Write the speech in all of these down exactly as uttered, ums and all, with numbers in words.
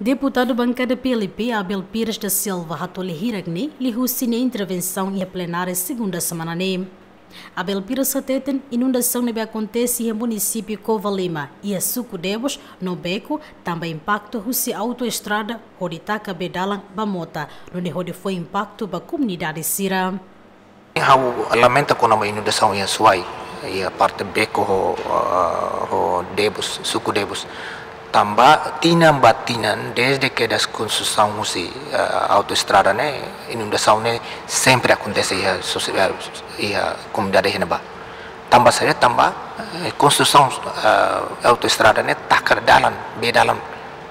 Deputadu bankada P L P Abel Pires da Silva hato'o hirak ne'e liuhusi nia intervensaun iha plenária segunda semana ne'e. Abel Pires hateten inundasaun ne'ebé akontese iha munisípiu Covalima, iha suku Debus no Beco, tanba impaktu husi autoestrada hodi taka bee dalan ba mota, nune'e hodi fó impaktu ba komunidade sira. Ha'u lamenta kona-ba inundasaun iha Suai, iha parte Beco ho, ah, ho Debus, suku Debus. Tanba tinan ba tinan, dezde kedas konstrusaun husi, ah, autoestrada ne'e, inundasaun ne'e sempre akontese iha sosi-, ah, iha komunidade iha ne'ebá. Tanba saida? Tanba, eh, konstrusaun, ah, autoestrada ne'e taka dalan, bee dalan,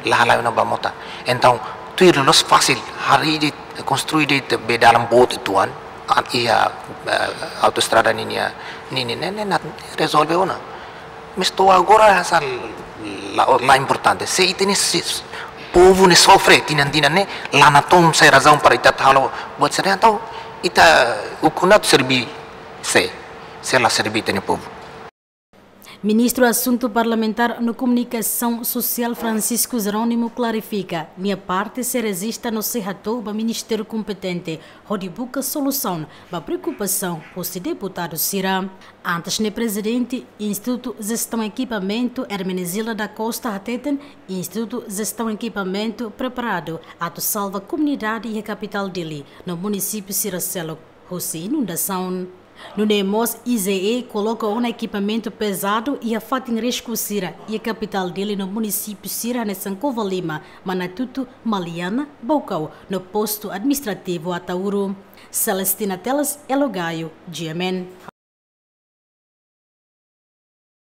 la halai ona ba mota. Entaun, tuir loloos fasil, harii de'it, konstrui de'it bee dalan boot uitoan, an iha, eh, autoestrada ninia, nini ne'e, ne'e la rezolve ona. Mas to'o agora hanesan la, la importante. Se ita-nia si-, povu ne'e sofre tinan-tinan ne'e, la natoon sai razaun para ita atu halo buat sira-ne'e, entaun ita ukun atu serve sé, se la serve ita-nia povu. Ministru Asuntu Parlamentár no Komunikasaun Sosiál Francisco Jerónimo klarifika, nia parte sei rejista no sei hato'o ba ministériu kompetente, hodi buka solusaun ba preokupasaun husi deputadu sira. Antes ne'e, prezidente Institutu Jestaun Ekipamentu, Hermenegilda da Costa, hateten Institutu Jestaun Ekipamentu preparadu atu salva komunidade iha kapitál Dili no munisípiu sira seluk husi inundasaun. Nune'e mós I J E koloka ona ekipamentu pezadu iha fatin risku sira iha kapitál Dili no munisípiu sira hanesan Covalima, Manatuto, Maliana, Baucau no postu administrativu Ataúro. Celestina Teles, Elo Gaio, G M N.